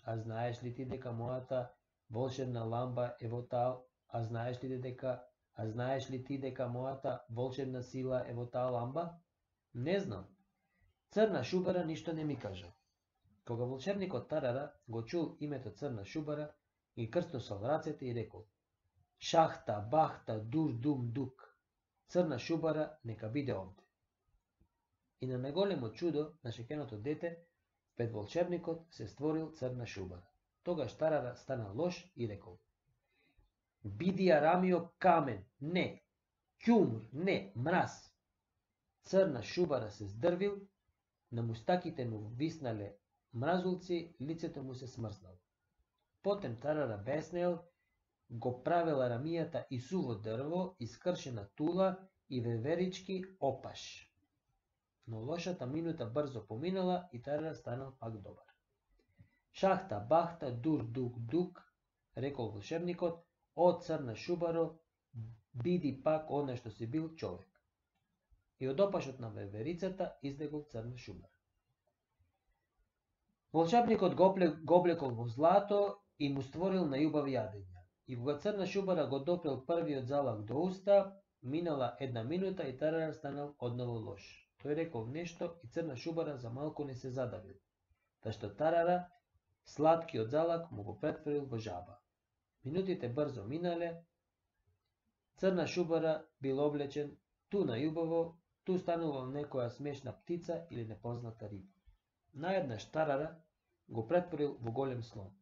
А знаеш ли ти дека мојата волшебна ламба е во таа, а знаеш ли дека А знаеш ли ти дека мојата волшебна сила е во таа ламба? Не знам. Црна шубара ништо не ми кажа. Кога волшебникот Тарара го чул името црна шубара, ги крстосал рацете и рекол: Шахта, бахта, дур, дум, дук. Црна шубара нека биде овде. И на наголемо чудо на шекеното дете, пред волшебникот се створил црна шубара. Тогаш Тарара стана лош и рекол: Биди Арамио камен, не, ќумур, не, мраз. Црна шубара се здрвил, на мустаките му виснале мразулци, лицето му се смрзнало. Потем Тарара беснеел, го правил Арамијата и суво дрво, искршена тула и веверички опаш. Но лошата минута брзо поминала и Тарара станал пак добар. Шахта, бахта, дур, дук, дук, рекол волшебникот, о црна шубаро, биди пак оно што си бил човек. И од опашот на веверицата излегол црна шубара. Волшебникот го облекол во злато и му створил најубави јадења. И кога црна шубара го допрел првиот залак до уста, минала една минута и Тарара станал одново лош. Тој рекол нешто и црна шубара за малку не се задавил, зашто Тарара сладкиот залак му го претворил во жаба. Минутите брзо минале, црна шубара бил облечен ту најубаво, ту станувал некоја смешна птица или непозната риба. Наеднаш Тарара го претворил во голем слон.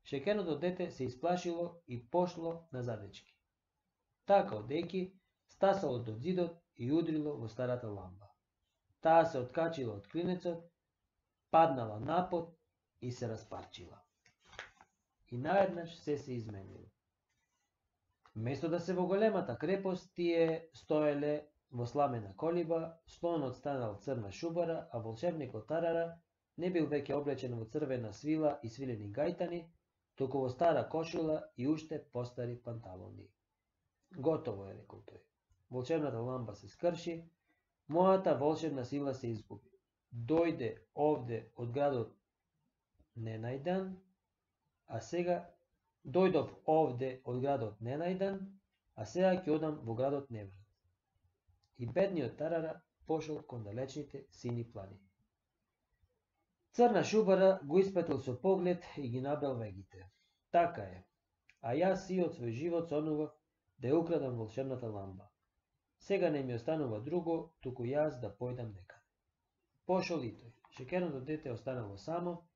Шекеното дете се исплашило и пошло на задечки. Така одејќи стасало до зидот и удрило во старата ламба. Таа се откачила од клинецот, паднала на пот и се распарчила. И наеднаш се се изменило. Место да се во големата крепост, тие стоеле во сламена колиба, слонот станал црна шубара, а волшебникот Тарара не бил веќе облечен во црвена свила и свилени гајтани, туку во стара кошула и уште постари панталони. Готово е, рекол тој. Волшебната ламба се скрши, мојата волшебна сила се изгуби. Дојде овде од градот ненајдан, а сега дојдов овде од градот ненајдан, а сега ќе одам во градот неврат. И бедниот Тарара пошол кон далечните сини планини. Црна шубара го испратил со поглед и ги набрал вегите. Така е, а јас сиот свој живот сонував да ја украдам волшебната ламба. Сега не ми останува друго, туку јас да појдам некаде. Пошол и тој. Шекерното дете останало само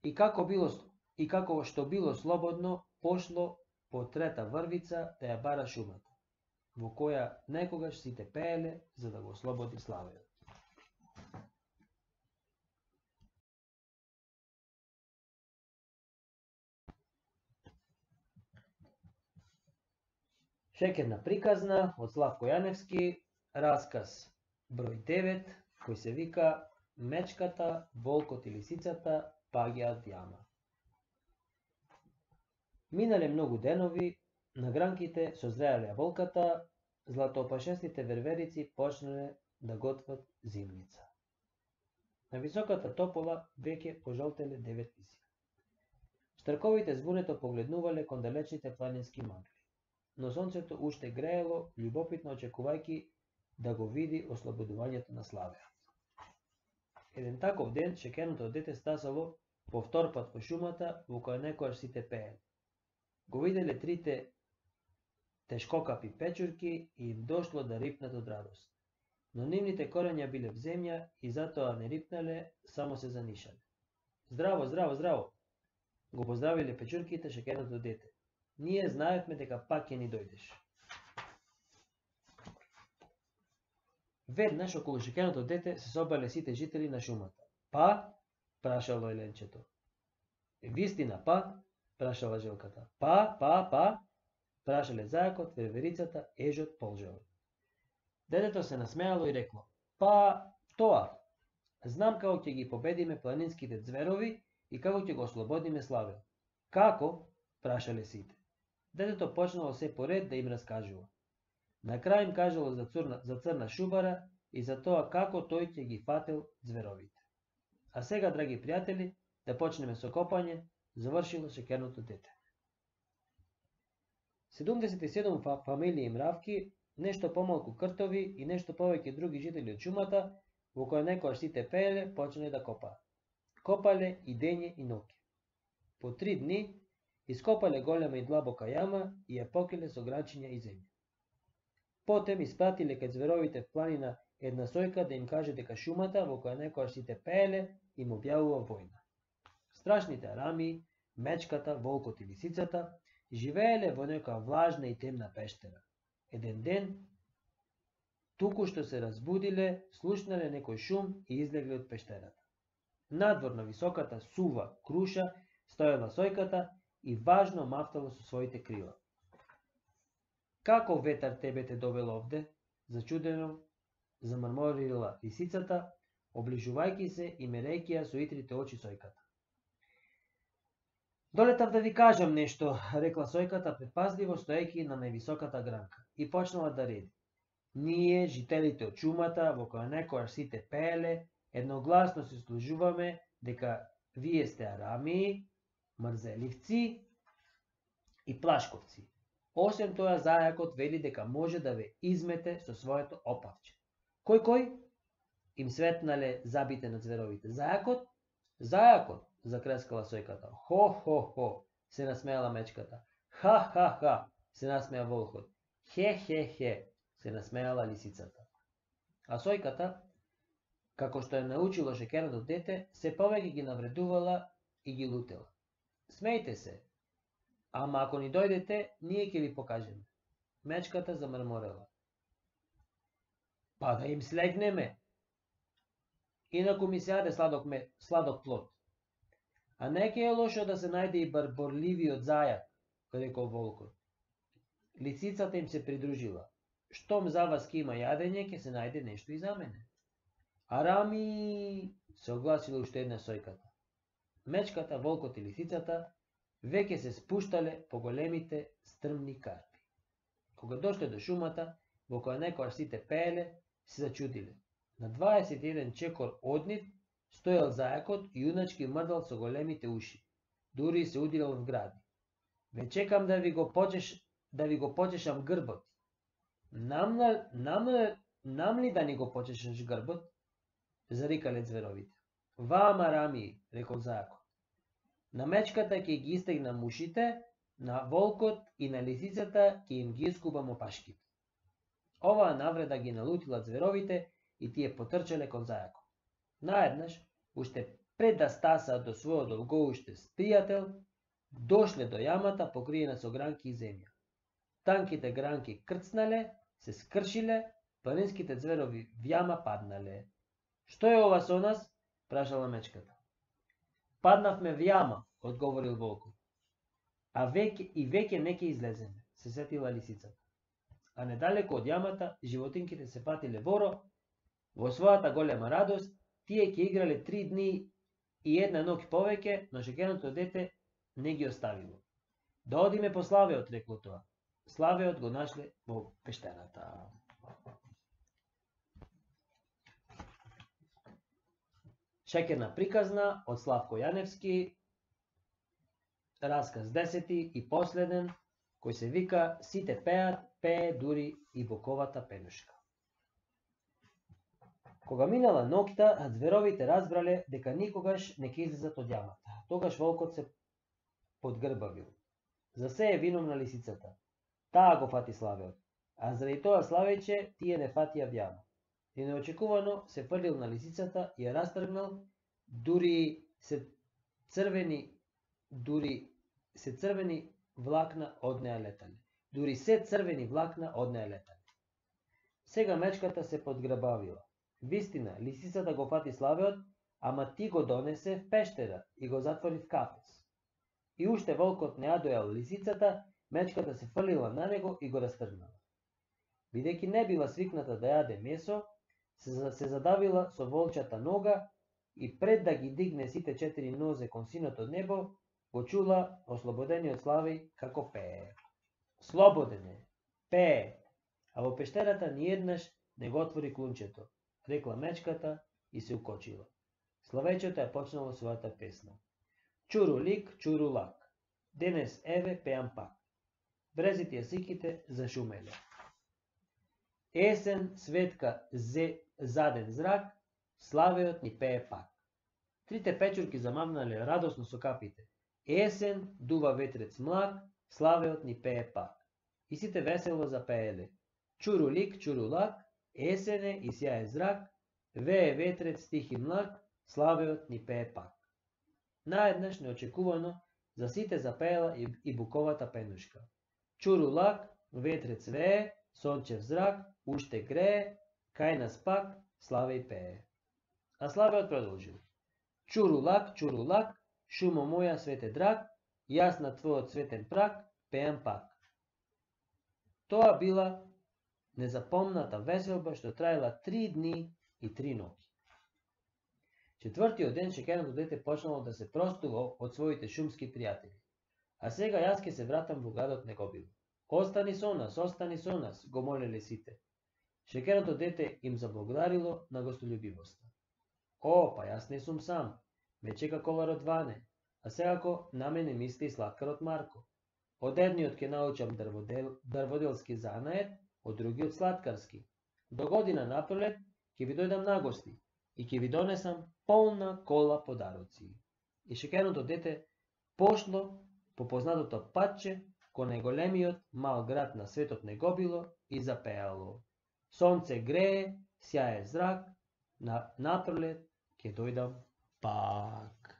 и како било и како што било слободно, пошло по трета врвица да ја бара шумата, во која некогаш сите пееле за да го ослободи славеот. Шекерна приказна од Славко Јаневски, расказ број девет, кој се вика Мечката, волкот и лисицата паѓаат јама. Минале многу денови, на гранките созреале јаболката, златоопашестите верверици почнале да готват зимница. На високата топола веќе пожолтеле девет лиси. Штрковите збунето погледнувале кон далечните планински магли. но сонцето уште греело, љубопитно очекувајќи да го види ослободувањето на Славе. Еден таков ден, шекерното дете стасало по втор пат во шумата, во која некојаш сите пееле. Го виделе трите тешкокапи печурки и им дошло да рипнат од радост. Но нивните корења биле в земја и затоа не рипнале, само се занишале. Здраво, здраво, здраво! Го поздравиле печурките шекерното дете. Ние знаевме дека пак ќе ни дојдеш. Веднаш околу шекерното дете се собрале сите жители на шумата. Па? Прашало еленчето. Вистина, па? Прашала желката. Па, па, па? Прашале зајакот, верверицата, ежот, полжевот. Детето се насмеало и рекло. Па, тоа. Знам како ќе ги победиме планинските ѕверови и како ќе го ослободиме Славе. Како? Прашале сите. Детето почнало се поред да им раскажува. На крај им кажало за, цурна, за црна шубара и за тоа како тој ќе ги фател ѕверовите. А сега, драги пријатели, да почнеме со копање, завршило шекерното дете. седумдесет и седум фамилии мравки, нешто помалку кртови и нешто повеќе други жители од шумата, во која некојаш сите пееле, почнале да копаат. Копале и дење и ноќе. По три дни ископале голема и длабока јама и ја покриле со гранчиња и земја. Потем испратиле кај ѕверовите в планина една сојка да им каже дека шумата во која некојаш сите пееле им објавува војна. Страшните арамии, мечката, волкот и лисицата живееле во некоја влажна и темна пештера. Еден ден, туку што се разбудиле, слушнале некој шум и излегле од пештерата. Надвор на високата сува круша стоела сојката и важно мафтало со своите крила. Како ветар тебе те довел овде? Зачудено замрморила лисицата, оближувајќи се и мерејќи ја со итрите очи сојката. Долетав да ви кажам нешто, рекла сојката предпазливо стоејќи на највисоката гранка и почнала да реди. Ние, жителите од шумата, во која некојаш сите пееле, едногласно се служуваме дека вие сте арамии, мрзеливци и плашковци. Осем тоа, зајакот вели дека може да ве измете со своето опавче. Кој кој? Им светнале забите на ѕверовите. Зајакот? Зајакот, закрескала сојката. Хо, хо, хо, се насмеала мечката. Ха, ха, ха, се насмеа волкот. Хе, хе, хе, се насмеала лисицата. А сојката, како што е научило шекерното дете, се повеќе ги навредувала и ги лутела. Смејте се, ама ако ни дојдете, ние ќе ви покажеме. Мечката замрморела. Па да им слегнеме. Инаку ми се јаде сладок, ме, сладок плод. А не ќе е лошо да се најде и барборливиот зајак, рекол волкот. Лисицата им се придружила. Штом за вас ке има јадење, ќе се најде нешто и за мене. Арами, се огласила уште една сојката. Мечката, волкот и лисицата веќе се спуштале по големите стрмни карпи. Кога дошле до шумата, во која некојаш сите пееле, се зачудиле. На дваесет и еден чекор од нив стоел зајакот и јуначки мрдал со големите уши. Дури се удирал в гради. Ве чекам да ви го почеш, да ви го почешам грбот. Нам, нам, нам ли да ни го почешаш грбот? Зарикале ձверовите. Вама, Рами, рекол зајакот. На мечката ќе ги истегнам ушите, на волкот и на лисицата ќе им ги искубам опашките. Оваа навреда ги налутила ձверовите и тие потрчале кон зајакот. Наеднаш, уште пред да стасаат до својот долгоуште пријател, дошле до јамата покриена со гранки и земја. Танките гранки крцнале, се скршиле, планинските ձверови в јама паднале. Што е ова со нас? Прашала мечката. Паднавме в јама, одговорил волкот. А веќе и веќе не ќе излеземе, се сетила лисицата. А недалеку од јамата животинките се патиле воро. Во својата голема радост, тие ќе играле три дни и една ноќ повеќе, но шекерното дете не ги оставило. Да одиме по Славеот, рекло тоа. Славеот го нашле во пештерата. Шекерна приказна од Славко Јаневски, расказ десети и последен, кој се вика "Сите пеат, пее дури и буковата пенушка". Кога минала ноќта, зверовите разбрале дека никогаш не ќе излезат од јамата. Тогаш волкот се подгрбавил. За се е виновна лисицата. Таа го фати славеот, а заради тоа славејче тие не фатија вјама. И неочекувано се фрлил на лисицата и ја растргнал, дури се црвени дури се црвени влакна од неа летале. Дури се црвени влакна од неа летале. Сега мечката се подгрбавила. Вистина, лисицата го фати славеот, ама ти го донесе в пештера и го затвори в кафес. И уште волкот не ја дојал лисицата, мечката се фрлила на него и го растргнала. Бидејќи не била свикната да јаде месо, се, се задавила со волчата нога и пред да ги дигне сите четири нозе кон синото од небо, го чула ослободениот Славеј како пее. Слободен е, пее, а во пештерата ниеднаш не го отвори клунчето, рекла мечката и се укочила. Славејчето ја почнало својата песна. Чуру лик, чуру лак, денес еве пеам пак. Брезите јасиките зашумеле. Есен, светка, зе, заден зрак, славеот ни пее пак. Трите печурки замавнале радосно со капите. Есен, дува ветрец млак, славеот ни пее пак. И сите весело запееле. Чуру лик, чуру лак, есене и сјаен зрак, вее ветрец тих и млак, славеот ни пее пак. Наеднаш неочекувано за сите запеела и, и буковата пенушка. Чуру лак, ветрец вее, сончев зрак, уште грее, кај нас пак Славеј пее. А Славеот продолжил. Чуру лак, чуру лак, шумо моја свете драг, јас на твојот светен прак пеам пак. Тоа била незапомната веселба што траела три дни и три ноќи. Четвртиот ден шеќерното дете почнало да се простува од своите шумски пријатели. А сега јас ќе се вратам во градот Негобило. Остани со нас, остани со нас, го молеле сите. Шеќерното дете им заблагодарило на гостолюбивоста. О, па јас не сум сам, ме чека коварот Ване, а секако на мене мисли и сладкарот Марко. Од едниот ќе научам дрводел, дрводелски занаед, од другиот сладкарски. До година напролет ќе ви дојдам на гости и ќе ви донесам полна кола подароци. И шеќерното дете пошло по познатото патче кон најголемиот мал град на светот Негобило и запеало. Сонце грее, сјае зрак, на напролет ќе дојдам пак.